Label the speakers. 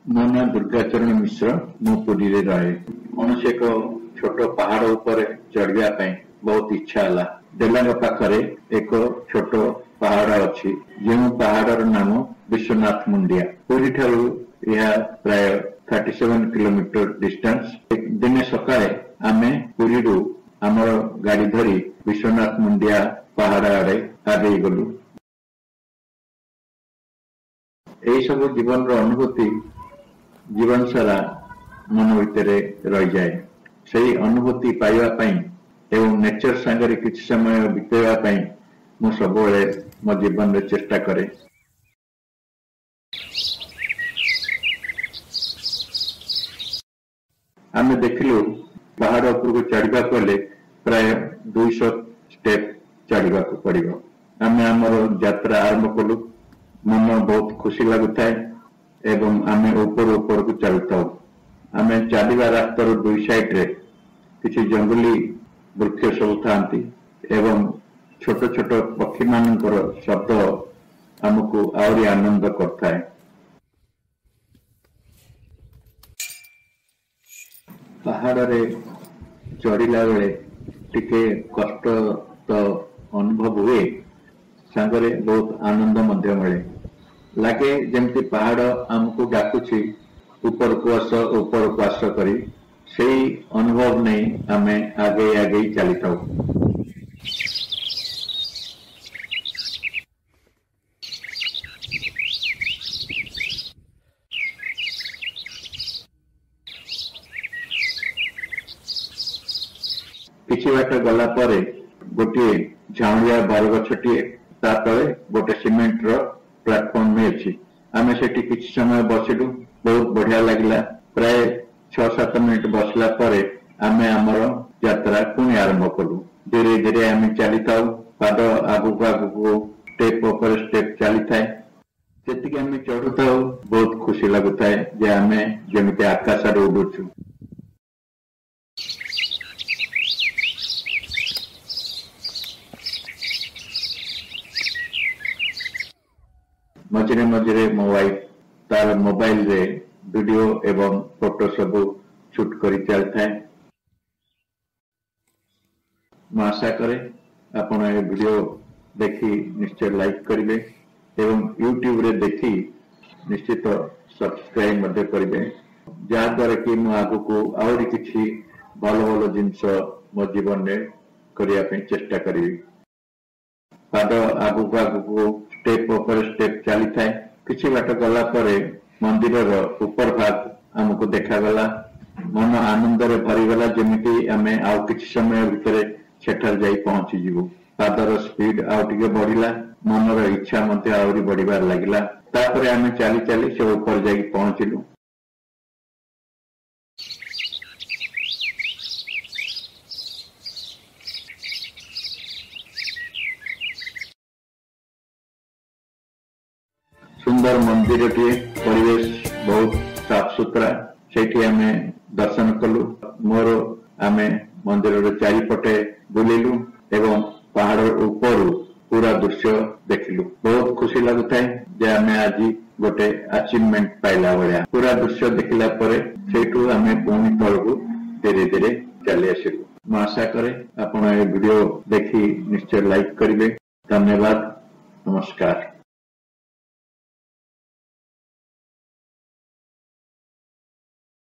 Speaker 1: ମୋ ନାଁ ଦୁର୍ଗାଚରଣ ମିଶ୍ର, ମୁଁ ପୁରୀରେ ରହେ। କୌଣସି ଏକ ଛୋଟ ପାହାଡ଼ ଉପରେ ଚଢ଼ିବା ପାଇଁ ବହୁତ ଇଚ୍ଛା ହେଲା। ଡେଲାଙ୍ଗ ପାଖରେ ଏକ ଛୋଟ ପାହାଡ଼ ଅଛି, ଯେଉଁ ପାହାଡ଼ର ନାମ ବିଶ୍ୱନାଥ ମୁଣ୍ଡିଆ। ପୁରୀ ଠାରୁ ଏହା ପ୍ରାୟ 37 କିଲୋମିଟର ଡିଷ୍ଟାନ୍ସ। ଦିନେ ସକାଳେ ଆମେ ପୁରୀରୁ ଆମର ଗାଡ଼ି ଧରି ବିଶ୍ୱନାଥ ମୁଣ୍ଡିଆ ପାହାଡ଼ ଆଡ଼େ ଆଗେଇ ଗଲୁ। ଏହିସବୁ ଜୀବନର ଅନୁଭୂତି ଜୀବନ ସାରା ମନ ଭିତରେ ରହିଯାଏ। ସେଇ ଅନୁଭୂତି ପାଇବା ପାଇଁ ଏବଂ ନେଚର ସାଙ୍ଗରେ କିଛି ସମୟ ବିତେଇବା ପାଇଁ ମୁଁ ସବୁବେଳେ ମୋ ଜୀବନରେ ଚେଷ୍ଟା କରେ। ଆମେ ଦେଖିଲୁ ପାହାଡ଼ ଉପରକୁ ଚଢ଼ିବାକୁ ହେଲେ ପ୍ରାୟ 200 ଷ୍ଟେପ୍ ଚଢ଼ିବାକୁ ପଡ଼ିବ। ଆମେ ଆମର ଯାତ୍ରା ଆରମ୍ଭ କଲୁ। ମନ ବହୁତ ଖୁସି ଲାଗୁଥାଏ ଏବଂ ଆମେ ଉପରୁ ଉପରକୁ ଚାଲୁଥାଉ। ଆମେ ଚାଲିବା ରାସ୍ତାର ଦୁଇ ସାଇଡରେ କିଛି ଜଙ୍ଗଲୀ ବୃକ୍ଷ ସବୁ ଥାନ୍ତି ଏବଂ ଛୋଟ ଛୋଟ ପକ୍ଷୀମାନଙ୍କର ଶବ୍ଦ ଆମକୁ ଆହୁରି ଆନନ୍ଦ କରିଥାଏ। ପାହାଡ଼ରେ ଚଢ଼ିଲା ବେଳେ ଟିକେ କଷ୍ଟ ତ ଅନୁଭବ ହୁଏ, ସାଙ୍ଗରେ ବହୁତ ଆନନ୍ଦ ମଧ୍ୟ ମିଳେ। ଲାଗେ ଯେମିତି ପାହାଡ଼ ଆମକୁ ଡାକୁଛି, ଉପରକୁ ଆସ, ଉପରକୁ ଆସ କରି। ସେଇ ଅନୁଭବ ନେଇ ଆମେ ଆଗେଇ ଆଗେଇ ଚାଲିଥାଉ। କିଛି ବାଟ ଗଲା ପରେ ଗୋଟିଏ ଝାଉଁଳିଆ ବରଗଛଟିଏ, ତା ତଳେ ଗୋଟେ ସିମେଣ୍ଟର ପ୍ଲାଟଫର୍ମ ଅଛି। ଆମେ ସେଠି କିଛି ସମୟ ବସିଲୁ, ବହୁତ ବଢିଆ ଲାଗିଲା। ପ୍ରାୟ 6-7 ମିନିଟ ବସିଲା ପରେ ଆମେ ଆମର ଯାତ୍ରା ପୁଣି ଆରମ୍ଭ କଲୁ। ଧୀରେ ଧୀରେ ଆମେ ଚାଲିଥାଉ, ପାଦ ଆଗକୁ ଆଗକୁ ଷ୍ଟେପ ଉପରେ ଷ୍ଟେପ ଚାଲିଥାଏ। ଯେତିକି ଆମେ ଚଢୁଥାଉ ବହୁତ ଖୁସି ଲାଗୁଥାଏ ଯେ ଆମେ ଯେମିତି ଆକାଶରେ ଉଡୁଛୁ। ମଝିରେ ମଝିରେ ମୋ ୱାଇଫ ତାର ମୋବାଇଲରେ ଭିଡିଓ ଏବଂ ଫଟୋ ସବୁ ସୁଟ୍ କରି ଚାଲିଥାଏ। ମୁଁ ଆଶା କରେ ଆପଣ ଏ ଭିଡିଓ ଦେଖି ନିଶ୍ଚୟ ଲାଇକ୍ କରିବେ ଏବଂ ୟୁଟ୍ୟୁବରେ ଦେଖି ନିଶ୍ଚିତ ସବସ୍କ୍ରାଇବ ମଧ୍ୟ କରିବେ, ଯାହାଦ୍ୱାରା କି ମୁଁ ଆଗକୁ ଆହୁରି କିଛି ଭଲ ଭଲ ଜିନିଷ ମୋ ଜୀବନରେ କରିବା ପାଇଁ ଚେଷ୍ଟା କରିବି। ପାଦ ଆଗକୁ ଆଗକୁ ଷ୍ଟେପ ଉପରେ ଷ୍ଟେପ ଚାଲିଥାଏ। କିଛି ବାଟ ଗଲା ପରେ ମନ୍ଦିରର ଉପର ଭାଗ ଆମକୁ ଦେଖାଗଲା। ମନ ଆନନ୍ଦରେ ଭରିଗଲା, ଯେମିତି ଆମେ ଆଉ କିଛି ସମୟ ଭିତରେ ସେଠାରେ ଯାଇ ପହଞ୍ଚିଯିବୁ। ପାଦର ସ୍ପିଡ ଆଉ ଟିକେ ବଢିଲା, ମନର ଇଚ୍ଛା ମଧ୍ୟ ଆହୁରି ବଢିବାରେ ଲାଗିଲା। ତାପରେ ଆମେ ଚାଲି ଚାଲି ସେ ଉପରେ ଯାଇକି ପହଞ୍ଚିଲୁ। ସୁନ୍ଦର ମନ୍ଦିରଟିଏ, ପରିବେଶ ବହୁତ ସାଫ ସୁତରା। ସେଇଠି ଆମେ ଦର୍ଶନ କଲୁ। ମୋର ଆମେ ମନ୍ଦିରର ଚାରିପଟେ ବୁଲିଲୁ ଏବଂ ପାହାଡ ଉପରୁ ପୁରା ଦୃଶ୍ୟ ଦେଖିଲୁ। ବହୁତ ଖୁସି ଲାଗୁଥାଏ ଯେ ଆମେ ଆଜି ଗୋଟେ ଆଚିଭମେଣ୍ଟ ପାଇଲା ଭଳିଆ। ପୁରା ଦୃଶ୍ୟ ଦେଖିଲା ପରେ ସେଇଠୁ ଆମେ ପୁଣି ତଳକୁ ଧୀରେ ଧୀରେ ଚାଲି ଆସିଲୁ। ମୁଁ ଆଶା କରେ ଆପଣ ଏ ଭିଡିଓ ଦେଖି ନିଶ୍ଚୟ ଲାଇକ୍ କରିବେ। ଧନ୍ୟବାଦ, ନମସ୍କାର।